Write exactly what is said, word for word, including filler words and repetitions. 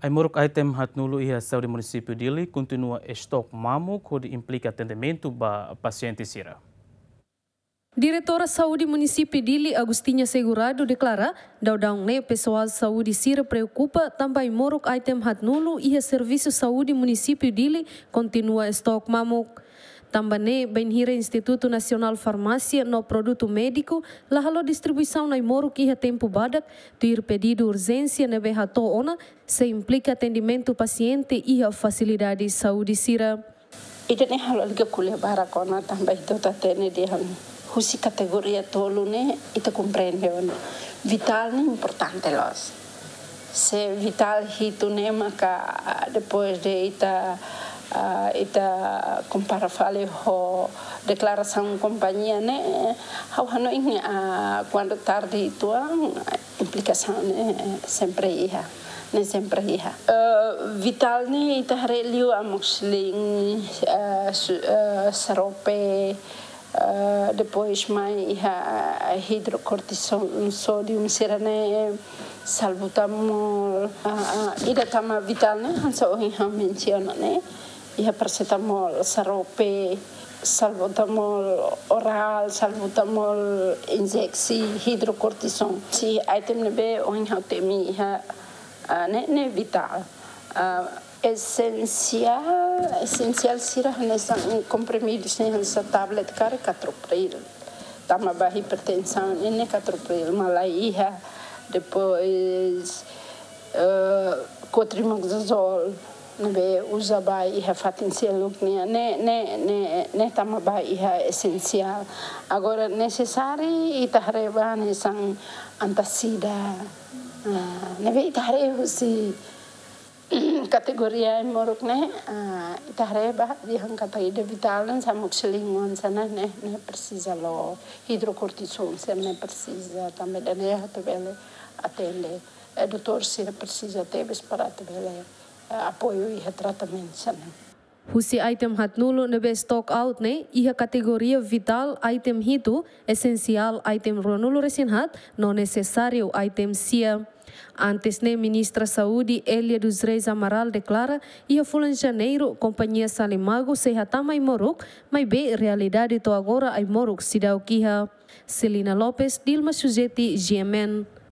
Ai-moruk item haat-nulu iha Saúde Munisípiu Dili kontinua estok mamuk hodi implika atendimentu ba pasiente sira. Diretora Saúde Munisípiu Dili, Agostinha Segurado, deklara, daudaun ne'e pesoál saúde sira preokupa tanba ai-moruk item haat-nulu iha Servisu Saúde Munisípiu Dili kontinua estok mamuk. Tanba ne'e, bainhira Institutu Nasionál Farmásia no Produtu Médiku la halo distribuisaun ai-moruk iha tempu badak, tuir pedidu urjénsia ne'ebé hato'o ona, sei implika atendimentu pasiente iha fasilidade saúde sira. Ida-ne'e halo liga ko'alia barak ona tanba ita hatene dehan husi kategoria tolu ne'e ita komprende ona. Vitál ne'e importante loos. Se vitál hitu ne'e maka, ah, depois de ita, ah, ita kompara fali ho deklarasaun kompañia ne'e, ha'u hanoin, ah, kuandu tarde uitoan, ah, implikasaun ne'e sempre iha, ne'e sempre iha. Eh, vitál ne'e ita haree liu amoxicilin, eh, su-, eh, xarope, eh, depois mai iha hidrokortison, sódium sira-ne'e, salbutamol, ah, ah, ida tama vitál ne'e hanesan ohin ha'u mensiona ne'e, iha parasetamol, xarope, salbutamol orál, salbutamol injeksi, hidrokortison. Husi item ne'ebé ohin ha'u temi iha, ah, ne'e, ne'e vitál. Ah, esensiál, esensiál sira hanesan komprimidus ne'e hanesan tablet karik catropril. Tama ba hipertensaun ne'e catropril, mas la iha. Depois, eh, cotrimoxazol, ne'ebé uza ba iha fatin seluk nian, ne'e, ne'e, ne'e, ne'e tama ba iha esensiál. Agora, nesesáriu ita haree ba hanesan antasida. Ah, ne'ebé ita haree husi kategoria ai-moruk ne'e, ah, ita haree ba dehan katak ida vitál ne'e hanesan amoxicilin hanesan ne'e, ne'e, ne'e presiza loos, hidrokortison sira-ne'e presiza, tanba ida-ne'e atu bele atende. Eh, doutór sira presiza tebes para atu bele, eh, apoiu iha tratamentu sira-ne'e. Husi item haat-nulu ne'ebé stock out ne'e, iha kategoria vitál item hitu, esensiál item ruanulu-resin-haat, no nesesáriu item sia. Antes ne'e Ministra Saúde Elia dos Reis Amaral deklara, iha fulan Janeiru, kompañia Salimagu sei hatama ai-moruk, maibé realidade to'o agora ai-moruk seidauk iha. Celina Lopes, Dilma Sujeti, G M N.